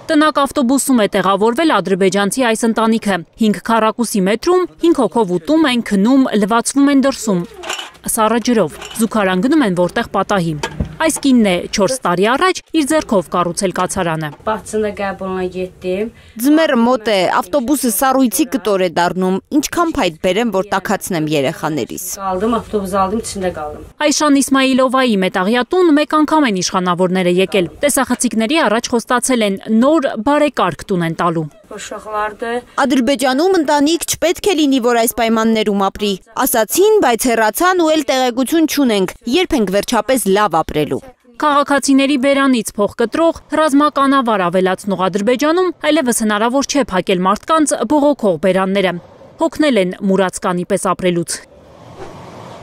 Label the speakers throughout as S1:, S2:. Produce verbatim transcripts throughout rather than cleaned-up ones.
S1: Տնակ ավտոբուսում է տեղավորվել ադրբեջանցի այս ընտանիքը։ հինգ քառակուսի մետրում հինգ հոգով ուտում են, քնում, լվացվում են դրսում։ Սառը ջրով, զուգարան գնում են որտեղ պատահի։ Այս կինն է չորս տարի առաջ իր ձեռքով կառուցել կացարանը։
S2: Ձմեռը մոտ է, ավտոբուսը սառույցի կտոր է դառնում, ինչքան փայտ բերեմ, որ տաքացնեմ երեխաներիս։
S1: Այշան Իսմայիլովայի մետաղյատուն մեկ անգամ են իշխանավորները եկել։ Տեսախցիկների առաջ խոստացել են նոր բարեկարգ տուն են տալու։
S2: Ադրբեջանում ընտանիք չպետք է լինի, որ այս պայմաններում ապրի։ Ասացին, բայց հեռացան ու էլ տեղեկություն չունենք, երբ ենք վերջապես լավ ապրելու։
S1: Քաղաքացիների բերանից փող կտրող, ռազմականավար ավելացնող Ադրբեջանում այլևս հնարավոր չէ փակել մարդկանց բողոքող բերանները։ Հոգնել են մուրացկանի պես ապրելուց։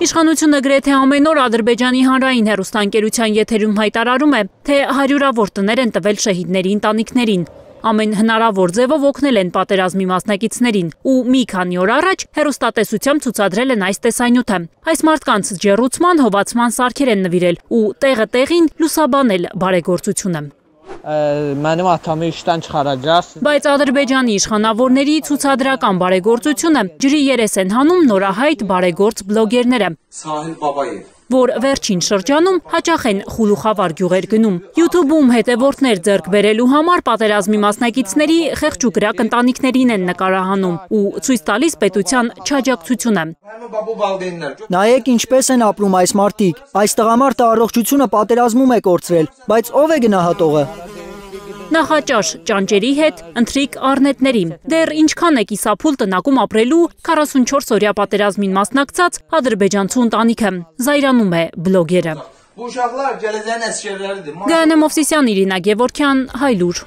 S1: Իշխանությունը գրեթե ամեն օր Ադրբեջանի հանրային հեռուստաընկերության եթերում հայտարարում է, թե հարյուրավոր տներ են տվել շահիդների ընտանիքներին։ Ամեն հնարավոր ձևով օգնել են պատերազմի մասնակիցներին ու մի քանի օր առաջ հեռուստատեսությամբ ցուցադրել են այս տեսանյութը։ Այս մարդկանց ջեռուցման, հովացման սարքեր են նվիրել ու տեղը տեղին լուսաբանել բարեգործությունը։ Բայց Ադրբեջանի իշխանավորների ցուցադրական բարեգործությունը ջրի երես են հանում նորահայտ բարեգործ բլոգերները, որ վերջին շրջանում հաճախ են խուլուխավար գյուղեր գնում։ YouTube-ում հետևորդներ ձեռք բերելու համար պատերազմի մասնակիցների խեղճուկրակ ընտանիքներին են նկարահանում ու ցույց տալիս պետության չաջակցությունը։
S3: Նայեք ինչպես են ապրում այս մարդիկ։ Այս տղամարդը առողջությունը պատերազմում է կորցրել, բայց ով է գնահատողը։
S1: Նախաճաշ ճանճերի հետ, ընթրիք առնետների։ Դեռ ինչքան է կիսափուլ տնակում ապրելու քառասունչորս-օրյա պատերազմին մասնակցած ադրբեջանցու ընտանիքը, զայրանում է բլոգերը։ Գայանե Մովսիսյան, Իրինա Գևորգյան, Հայլուր։